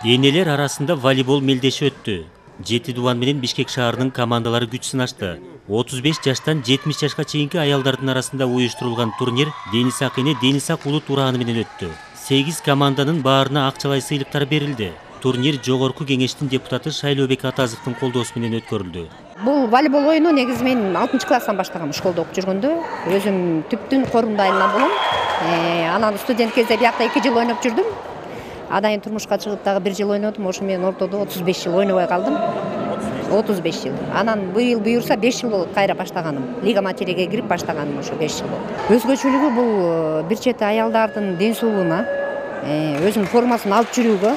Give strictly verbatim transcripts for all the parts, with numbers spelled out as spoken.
Энелер арасында волейбол мелдеши өттү. Жети Дубан менен Бишкек шаарынын командалары күч сынашты. отуз беш жаштан жетимиш жашка чейинки аялдардын арасында уюштурулган турнир Денис Ак эне Денис Ак улут урааны менен өттү. сегиз команданын баарына акчалай сыйлыктар берилди. Турнир Жогорку кеңештин депутаты Шайлообек Атазовдун колдоосу менен өткөрүлдү. Бул волейбол оюну негизи мен алтынчы класстан баштагам, школдо окуп жүргөндө. Өзүм түптүн корунда айлана болом. Анан студент кезде биякта эки жыл ойноп жүрдүм. Адайын турмушка чыгып дагы бир жыл ойнодум. Ошо менен ортодо отуз беш жыл ойнобой калдым. отуз беш жыл. Анан быйыл буюрса беш жыл болот кайра баштаганым. Лига материге кирип баштаганым ошо беш жыл болду. Өзгөчөлүгү бул бир чети аялдардын ден соолугуна, өзүнүн формасын алып жүрүүгө,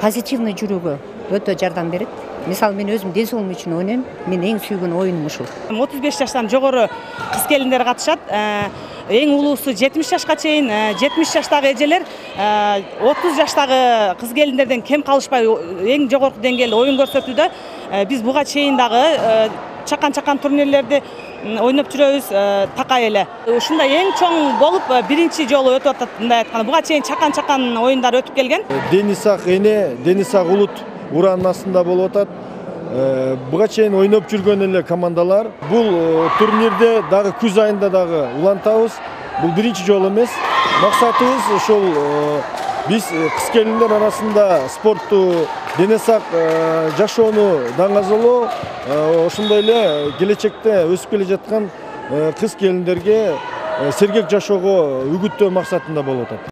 позитивный жүрүүгө өтө жардам берет. Мисалы мен өзүм ден соолугум үчүн ойнойм. Мен эң сүйгөн оюнум ушул. отуз беш жаштан жогору кыз келиндер катышат. Эң улуусу жетимиш жашка чейин, жетимиш жаштагы эжелер отуз жаштагы кыз келиндерден кем калышпай эң жогорку деңгээлде оюн көрсөтүүдө. Биз буга чейин дагы чакан-чакан турнирлерди ойноп жүрөбүз такай эле. Ушундай эң чоң болуп биринчи жолу өтүп атат мындай айтканда. Буга чейин чакан-чакан оюндар өтүп келген. Денис Ак эне, Денис Ак улут ураанын астында болуп атат. Буга чейин ойноп жүргөн эле командалар. Бул турнирде дагы күз айында дагы улантабыз. Бул биринчи жолу эмес. Максатыбыз ошол биз кыз келиндер арасында спортту дене сак жашоону даңазалоо, ошондой эле келечекте өсүп келе жаткан кыз келиндерге сергек жашоого үгүттөө максатында болуп атат.